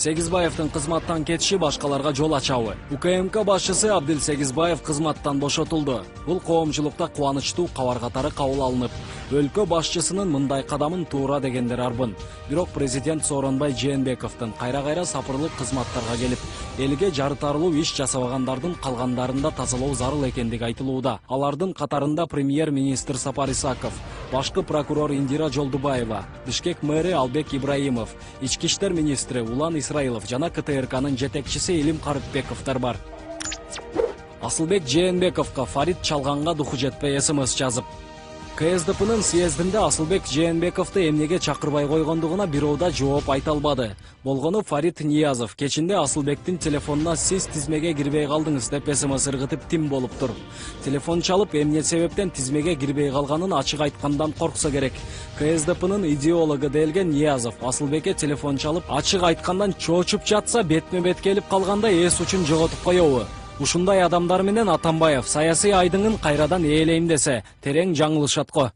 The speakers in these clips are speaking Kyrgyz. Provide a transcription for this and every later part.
Сегизбаевдин кызматтан кетиши башкаларга жол ачабы? УКМК башчысы Абдил Сегизбаев кызматтан бошотулду. Бул коомчулукта кубанычтуу кабар катары кабыл алынып, өлкө башчысынын мындай кадамын туура дегендер арбын. Бирок президент Сооронбай Жээнбековдун кайра-кайра сапырлык кызматтарга келип, элге жарытарлуу иш жасабагандардын калгандарында тазалоо зарыл экендиги айтылууда. Алардын катарында премьер-министр Сапар Исаков, башкы прокурор Индира Жолдубаева, Бишкек мэри Албек Ибраимов, ички иштер министри Улан Исраилов жана КТРКнын жетекчиси Илим Карыпбековдор бар. Асылбек Жээнбековго Фарид чалганга духу жетпей СМС жазып. КСДПнын съездинде Асылбек Жээнбековду эмнеге чакырбай койгондугуна бирөөда жооп айта албады. Болгону Фарид Ниязов кечинде Асылбектин телефонуна "Сиз тизмеге кирбей калдыңыз" деп СМС ыргытып тим болуптур. Телефон чалып, эмне себептен тизмеге кирбей калганын ачык айткандан корксо керек. КСДПнын идеологу делген Ниязов Асылбекке телефон чалып, ачык айткандан чоочуп жатса, бетме-бет келип калганда эс учун жоготуп коёбу? Ушундай адамдар менен Атамбаев саясий айдыңын кайрадан ээлейм десе, терең жаңылышат го.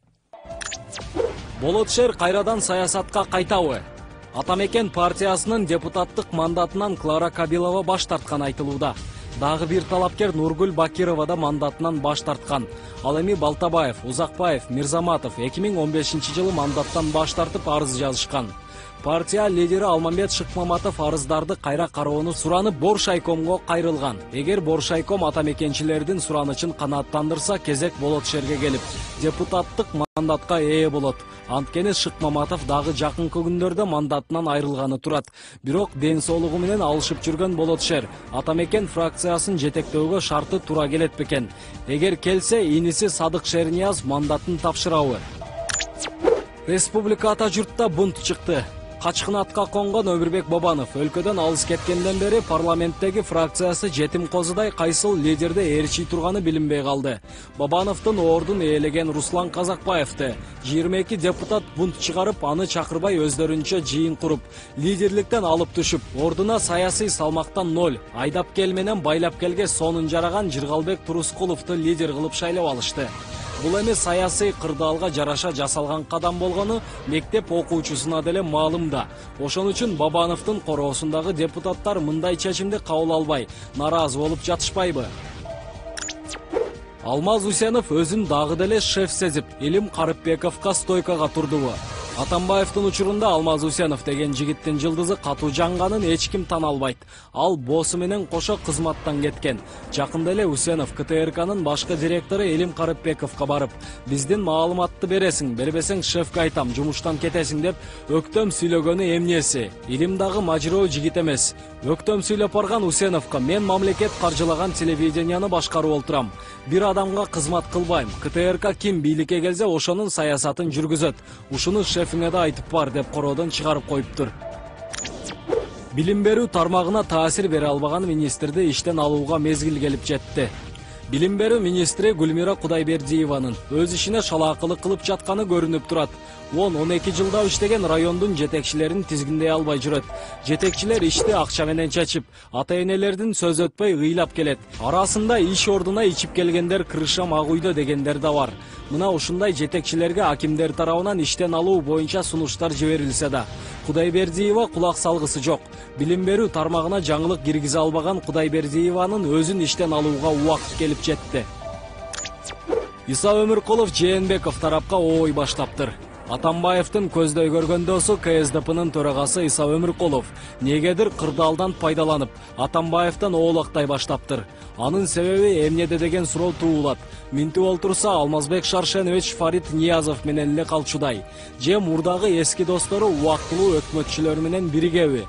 Болот шер кайрадан саясатка кайтабы? Атамекен партиясынын депутаттык мандатынан Клара Кабилова баш тарткан айтылууда. Дагы бир талапкер Нургүл Бакирова да мандатынан баш тарткан. Ал эми Балтабаев, Узакбаев, Мирзаматов 2015-жылы мандаттан баш тартып арыз жазышкан. Партия лидери Алмамбет Шыкмаматов арыздарды кайра кароону суранып Боршайкомго кайрылган. Эгер Боршайком атамекенчилердин суранычын канааттандырса, кезек Болот шерге келип, депутаттык мандатка ээ болот. Анткени Шыкмаматов дагы жакынкы күндөрдө мандатынан айрылганы турат. Бирок ден соолугу менен алышып жүргөн Болот шер Атамекен фракциясын жетектөөгө шарты тура келет бекен. Эгер келсе, иниси Садык Шернияз мандатын тапшырабы? Республика ата журтта бунт чыкты. Качкын атка конгон Өмүрбек Бабанов өлкөдөн алыс кеткенден бери парламенттеги фракциясы жетим козудай кайсыл лидерди ээрчий турганы билинбей калды. Бабановдун ордун ээлеген Руслан Казакбаевди 22 депутат бунт чыгарып, аны чакырбай өздөрүнчө жыйын куруп, лидерликтен алып түшүп, ордуна саясий салмактан 0, айдап кел менен байлап келге сонун жараган Жыргалбек Турускуловду лидер кылып шайлап алышты. Бул эми саясий кырдаалга жараша жасалган кадам болгону мектеп окуучусуна деле маалым да. Ошон үчүн Бабановдун короосундагы депутаттар мындай чечимди кабыл албай, наразы болуп жатышпайбы? Алмаз Усенов өзүн дагы деле шеф сезип, Илим Карыпбековго стойкага турдубу? Атамбаевдин учурунда Алмаз Усенов деген жигиттин жылдызы катуу жанганын эч ким тана албайт. Ал босу менен кошо кызматтан кеткен. Жакында эле Усенов КТРКнын башкы директору Илим Карыпбековго барып, "Биздин маалыматты бересиң, бербесең шефке айтам, жумуштан кетесиң" деп өктөм сүйлөгөнү эмнеси? Илим дагы мажыроо жигит эмес. Өктөм сүйлөп барган Усеновго "Мен мамлекет каржылаган телевиденияны башкарып олтурам. Бир адамга кызмат кылбайм. КТРК ким бийликке келсе, ошонун саясатын жүргүзөт. Ушуну шефиңе да айтып бар" деп короодон чыгарып коюптур. Билим берүү тармагына таасир бере албаган министрди иштен алууга мезгил келип жетти. Билим берүү министри Гүлмира Кудайбердиеванын өз ишине шалаакылык кылып жатканы көрүнүп турат. 10-12 жылда иштеген райондун жетекчилерин тизгиндей албай жүрөт. Жетекчилер ишти акча менен чечип, ата-энелердин сөз өтпөй ыйлап келет. Арасында иш ордуна ичип келгендер кырыша мак үйдө дегендер да бар. Мына ушундай жетекчилерге акимдер тарабынан иштен алуу боюнча сунуштар жиберилсе да, Кудайбердиева кулак салгысы жок. Билим берүү тармагына жаңылык киргизе албаган Кудайбердиеванын өзүн иштен алууга убакыт келип жетти. Иса Өмүркулов Жээнбеков тарапка ой баштаптыр. Атамбаевдин көздөй көргөн досу КСДПнын төрагасы Иса Өмүркулов негедир кырдаалдан пайдаланып, Атамбаевден оолактай баштаптыр. Анын себеби эмнеде деген суроо туулат. Минтип олтурса Алмазбек Шаршенович Фарид Ниязов менен эле калчудай. Же мурдагы эски достору убактылуу өкмөтчүлөр менен биригеби?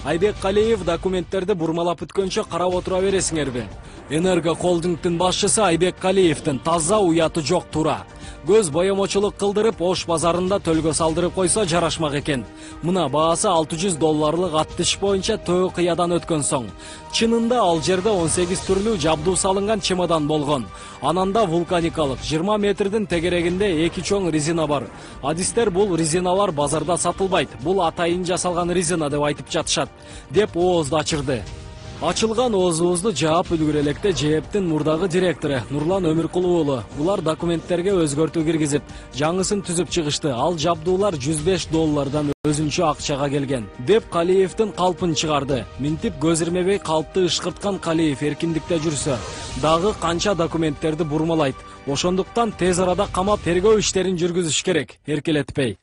Айбек Калиев документтерди бурмалап бүткөнчө карап отура бересиңерби? Энерго холдингдин башчысы Айбек Калиевдин таза уяты жок тура. Көз боемочулук кылдырып, Ош базарында төлгө салдырып койсо жарашмак экен. Мына баасы $600 атты иш боюнча төө кыядан өткөн соң. Чынында ал жерде 18 түрлүү жабдуу салынган чемодан болгон. Ананда вулканикалык 20 метрдин тегерегинде 2 чоң резина бар. Адистер бул резиналар базарда сатылбайт. Бул атайын жасалган резина деп айтып жатышат, деп оозду ачырды. Ачылган оозубузду жаап үлгүрө электе ЖЭБтин мурдагы директору Нурлан Өмүркулов уулу булар документтерге өзгөртүү киргизип, жаңысын түзүп чыгышты. Ал жабдуулар $105 өзүнчө акчага келген деп Калиевдин калпын чыгарды. Минтип көз ирмебей калпты ышкырткан Калиев эркиндикте жүрсө, дагы канча документтерди бурмалайт. Ошондуктан тез арада камап тергөө иштерин жүргүзүш керек, эркелетпей.